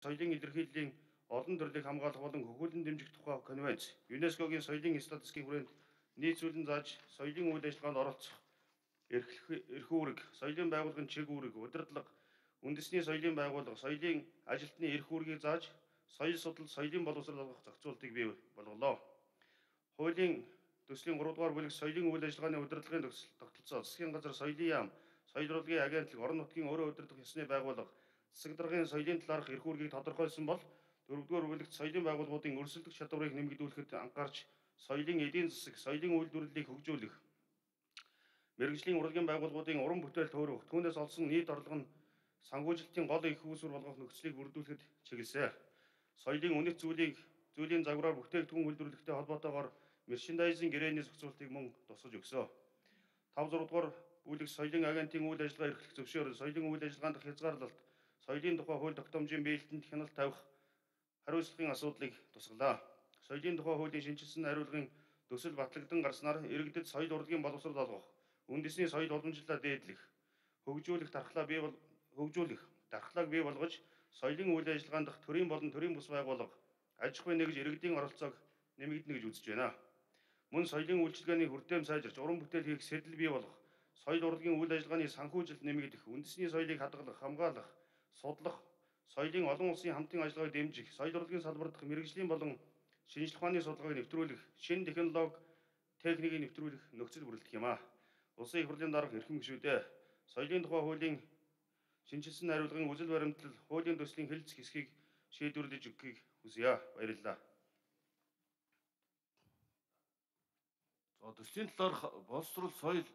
соёлын илэрхийллийн олон төрлийг хамгаалах болон хөгжүүлэн дэмжих тухай конвенц, ЮНЕСКОгийн соёлын статистикийн хүрээнд нийцүүлэн зааж соёлын үйл ажиллагаанд оролцох эрх үүрэг, соёлын байгууллагын чиг үүрэг, удирдлага, үндэсний соёлын байгууллага, соёлын ажилтны эрх үүргийг зааж соёл судал, соёлын боловсрол олгох зохицуултыг бий болголоо. Хуулийн төслийн 3 дугаар бүлэг соёлын үйл ажиллагааны удирдлагын тогтолцоо, засгийн газар, соёлын яам, соёл урлагийн агентлаг, орон нутгийн өөрөө удирдах ёсны байгууллага, засаг даргын соёлын талаарх эрх үүргийг тодорхойлсон бол 4-р бүлэгт соёлын байгууллагуудын өрсөлдөх чадварыг нэмэгдүүлэхэд анхаарч соёлын эдийн засаг, соёлын үйлдвэрлэлийг хөгжүүлэх, мэргэжлийн урлагийн байгууллагуудын уран бүтээл төөрөх, түүнээс олсон нийт орлого нь санхүүжилтийн гол их үүсвэр болгох нөхцөлийг бүрдүүлэхэд чиглэсэн. Соёлын үнэт зүйлийн загвараар бүтээгдэхүүн үйлдвэрлэхтэй холбоотойгоор мерчендайзинг гэрээний зохицуултыг мөн тусгаж өгсөн. 5-6 дугаар бүлэг соёлын агентийн үйл ажиллагаа эрхлэх зөвшөөрөл, соёлын үйл ажиллагаанд хязгаарлалт, соёлын тухай хууль тогтоомжийн биелэлтэнд хяналт тавих хариуцлагын асуудлыг тусгалаа. Соёлын тухай хуулийн шинжилсэн хариулгын төсөл батлагдсан гарснаар иргэдэд соёл урлагийн боловсрол олгох, үндэсний соёл уламжлалаа дээдлэх, хөгжүүлэх дархлааг бий болгож соёлын үйл ажиллагаанд төрийн болон төрийн бус байгууллага аж ахуйн нэгж иргэдийн оролцоог нэмэгдэнэ гэж үзэж байна. Мөн соёлын үйлчилгээний хүртэем сайжирч, уран бүтээл хийх сэтэл бий болгох, соёл урлагийн үйл ажиллагааны санхүүжилт нэмэгдэх, үндэсний соёлыг хадгалах, хамгаалах, судлах, соёлын олон улсын хамтын ажиллагааг дэмжих, соёл урлагийн салбар дахь мэргэжлийн болон шинжлэх ухааны судалгааг нэвтрүүлэх, шинэ технологи, техникийг нэвтрүүлэх нөхцөл бүрэлдэх юм а. Улсын их хурлын дарга эрхэм гишүүдээ, соёлын тухай хуулийн шинжилсэн хариулгын үзэл баримтлал, хуулийн төслийн хэлэлцэх хэсгийг шийдвэрлэж өгөхийг хүсье. Баярлалаа. За төслийн талаарх боловсрол соёл